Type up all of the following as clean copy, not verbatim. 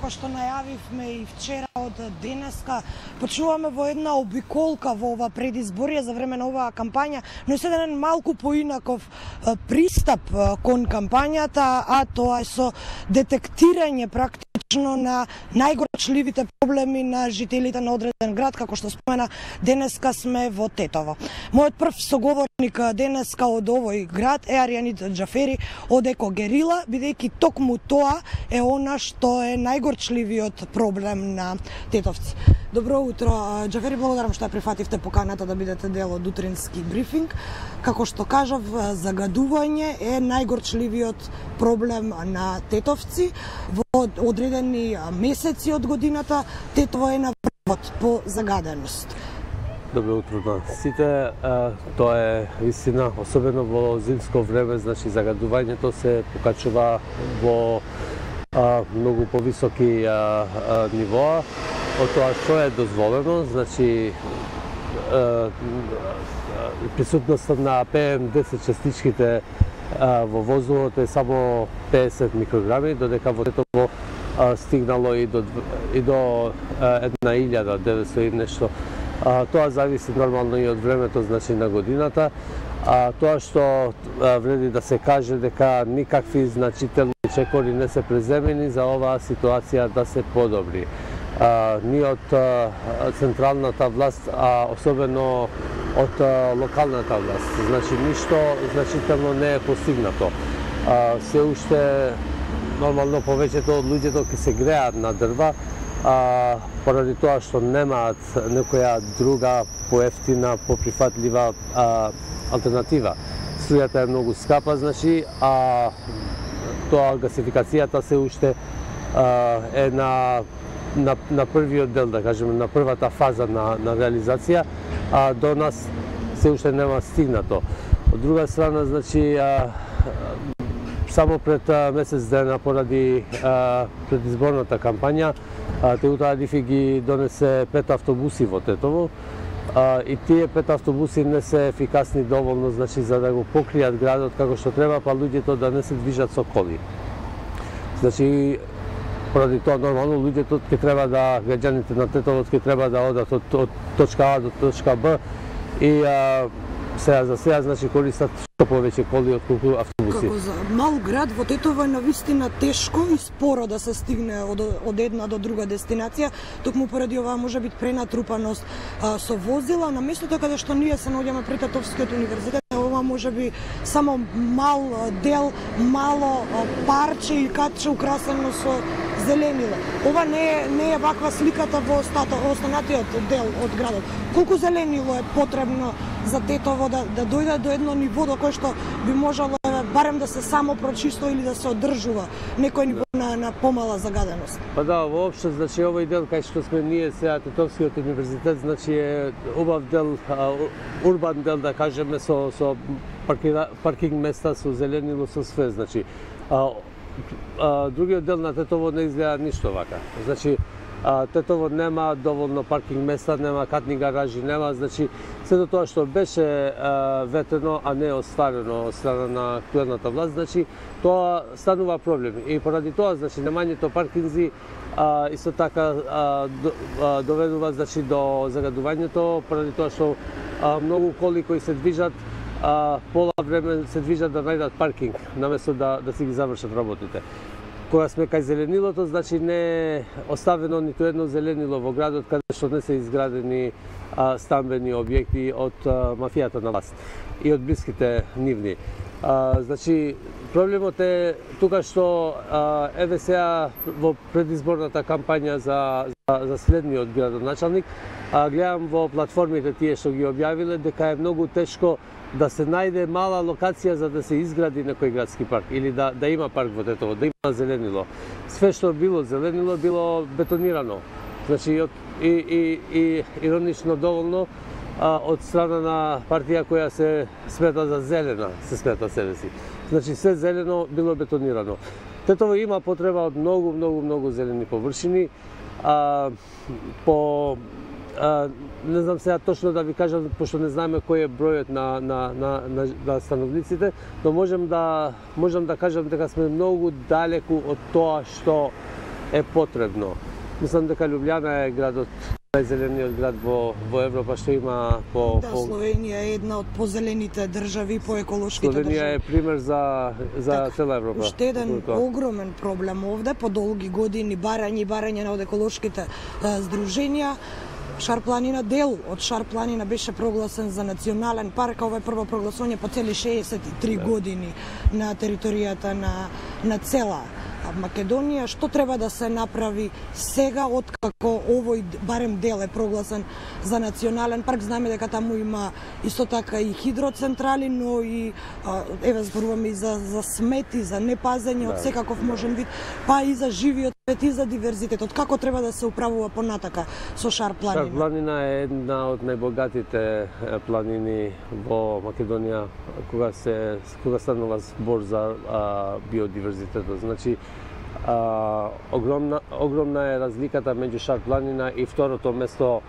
како што најавивме и вчера од денеска, почнуваме во една обиколка во ова предизборие за време на оваа кампања, но е еден малку поинаков пристап кон кампањата, а тоа е со детектирање практично на најгорчливите проблеми на жителите на одреден град, како што спомена, денеска сме во Тетово. Мојот прв соговорник денеска од овој град е Аријанит Џафери од Еко Герила, бидејќи токму тоа е она што е најгорчливиот проблем на тетовци. Добро утро, Џафери, благодарам што ја прифативте поканата да бидете дел од утрински брифинг. Како што кажав, загадување е најгорчливиот проблем на тетовци. Во одредени месеци од годината Тетово е на врвот по загаденост. Добро утро на сите. Тоа е истина, особено во зимско време, значи загадувањето се покачува во многу повисоки нивоа од тоа што е дозволено, значи присутноста на PM10 частичките во воздухот е само 50 микрограми, додека во Тетово стигнало и до 1900 и нешто. Тоа зависи нормално и од времето, значи на годината. Тоа што вреди да се каже дека никакви значителни чекори не се преземени за оваа ситуација да се подобри. Ни од централната власт, а особено од локалната власт. Значи ништо значително не е постигнато. Се уште нормално повеќето од луѓето ќе се греат на дрва, поради тоа што немаат некоја друга поевтина, поприфатлива алтернатива. Струјата е многу скапа, значи, а тоа гасификацијата се уште е на првиот дел, да кажеме, на првата фаза на реализација, а до нас се уште нема стигнато. Од друга страна, значи, само пред месец дена поради предизборната кампања, Теута Алифи ги донесе 5 автобуси во Тетово, и тие 5 автобуси не се ефикасни доволно, значи, за да го покријат градот како што треба, па луѓето да не се движат со коли. Значи, поради тоа нормално луѓето ќе треба да, граѓаните на Тетово ќе треба да одат од точка А до точка Б и за сега, значи, користат што повеќе коли отколку автобуси. Како за мал град во Тетово е навистина тешко и споро да се стигне од една до друга дестинација, токму поради оваа може би пренатрупаност со возила. На местото каде што ние се наоѓаме пред Тетовскиот универзитет, ова може би само мал дел, мало парче или катче украсено со зеленило. Ова не е ваква сликата во останатиот дел од градот. Колку зеленило е потребно за Тетово да дојде до едно ниво до кое што би можело барем да се само прочисто или да се одржува некој ниво на помала загаденост? Па да, воопшто, значи, овој дел кај што сме ние сега, Тетовскиот универзитет, значи е убав дел, урбан дел, да кажеме, со паркинг места, со зеленило, со све, значи. Другиот дел на Тетово не изгледа ништо вака. Значи, Тетово нема доволно паркинг места, нема катни гаражи, нема, значи, сето тоа што беше ветено, а не остварено од страна на актуелната власт, значи, тоа станува проблем. И поради тоа, значи, немањето паркинзи исто така доведува, значи, до загадувањето, поради тоа што многу коли кои се движат, пола време се движат да најдат паркинг, наместо да си ги завршат работите. Кога сме кај зеленилото, значи не е оставено ниту едно зеленило во градот каде што не се изградени стамбени објекти од мафијата на власт и од блиските нивни. Значи, проблемот е тука што еве сега во предизборната кампања за следниот градоначалник, гледам во платформите тие што ги објавиле дека е многу тешко да се најде мала локација за да се изгради некој градски парк или да има парк во Тетово, да има зеленило. Све што било зеленило било бетонирано. Значи, и иронично доволно од страна на партија која се смета за зелена, се смета себе си. Значи, се зелено било бетонирано. Тетово има потреба од многу зелени површини. Не знам сега точно да ви кажам, пошто не знаеме кој е бројот на становниците, но можам да кажам дека сме многу далеку од тоа што е потребно. Мислам дека Љубљана е градот најзелениот град во Европа, што има по... Да, Словенија е една од позелените држави, по еколошките држави. Словенија е пример за цела Европа. Уште еден огромен проблем овде, по долги години барање од еколошките здруженија. Шар планина, дел од Шар планина беше прогласен за национален парк, ова е прво прогласување по цели 63 години на територијата на цела Македонија. Што треба да се направи сега, откако овој барем дел е прогласен за национален парк? Знаеме дека таму има исто така и хидроцентрали, но и еве зборуваме и за смети, за непазење од секаков можен вид, па и за живиот свет и за диверзитетот. Како треба да се управува понатака со Шар планина? Шар планина е една од најбогатите планини во Македонија кога станува збор за биодиверзитетот. Значи, огромна е разликата меѓу Шар планина и второто место,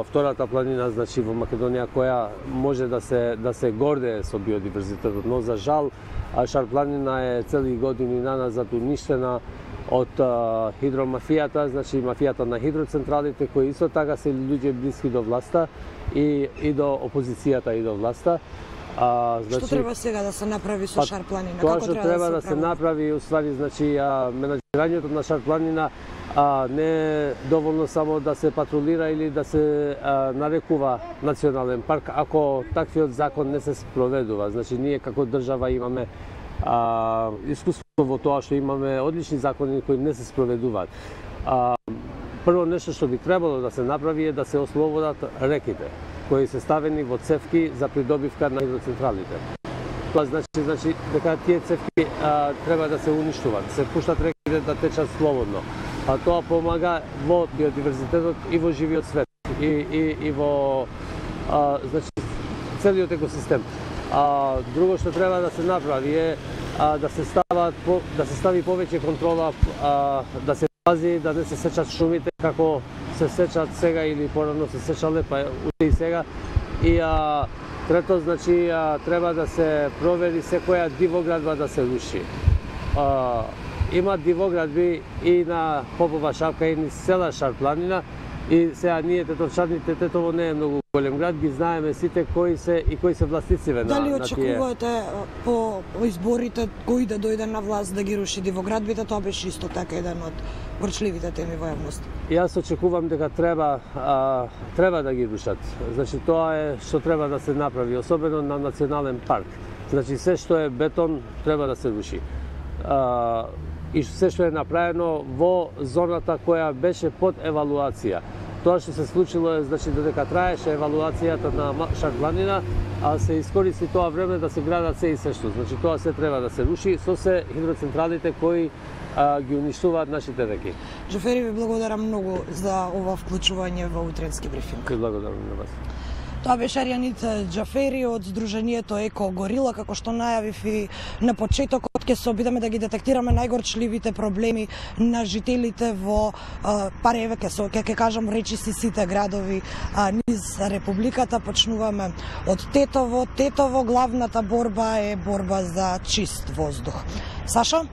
втората планина, значи во Македонија, која може да се гордее со биодиверзитетот, но за жал Шар планина е цели години наназад уништена од хидромафијата, значи мафијата на хидроцентралите, кои исто така се луѓе блиски до власта и до опозицијата и до власта. Што треба сега да се направи со Шар планина? Тоа што треба да се направи, уствари, значи, менаџирањето на Шар планина не е доволно само да се патрулира или да се нарекува национален парк, ако таквиот закон не се спроведува. Значи, ние како држава имаме искуство во тоа што имаме одлични закони кои не се спроведуваат. Прво нешто што би требало да се направи е да се ослободат реките кои се ставени во цевки за придобивка на хидроцентралите. Тоа значи дека тие цевки треба да се уништуваат, да се пуштат реките да течат слободно. А тоа помага во биодиверзитетот и во живиот свет и во значи целиот екосистем. Друго што треба да се направи е да се стави повеќе контрола, да се пази да не се сечат шумите како се сечат сега или порано се сечале, па уште и сега. И трето, значи, треба да се провери секоја дивоградба да се руши. Има дивоградби и на Попова шапка и низ цела Шар планина, и сега ние тетовчаните, Тетово не е многу голем град, ги знаеме сите кои се властициве на тие. Дали очекувате по изборите кој да дојде на власт да ги руши дивоградбите? Тоа беше исто така еден од горчливите теми во јавност. Јас очекувам дека треба да ги рушат. Значи тоа е што треба да се направи, особено на национален парк. Значи се што е бетон треба да се руши. И се што е направено во зоната која беше под евалуација. Тоа што се случило е, значи, додека траеше евалуацијата на Шар планина, се искористи тоа време да се градат се и се што. Значи тоа се треба да се руши со се хидроцентралите кои ги уништуваат нашите реки. Џафери, ви благодарам многу за ова вклучување во утренски брифинг. Ви благодарам на вас. Тоа беше Арјанит Џафери од Сдруженијето Еко Горила. Како што најавив и на почетокот, ќе се обидаме да ги детектираме најгорчливите проблеми на жителите во еве ќе кажам речиси сите градови низ Републиката. Почнуваме од Тетово. Тетово главната борба е борба за чист воздух. Сашо?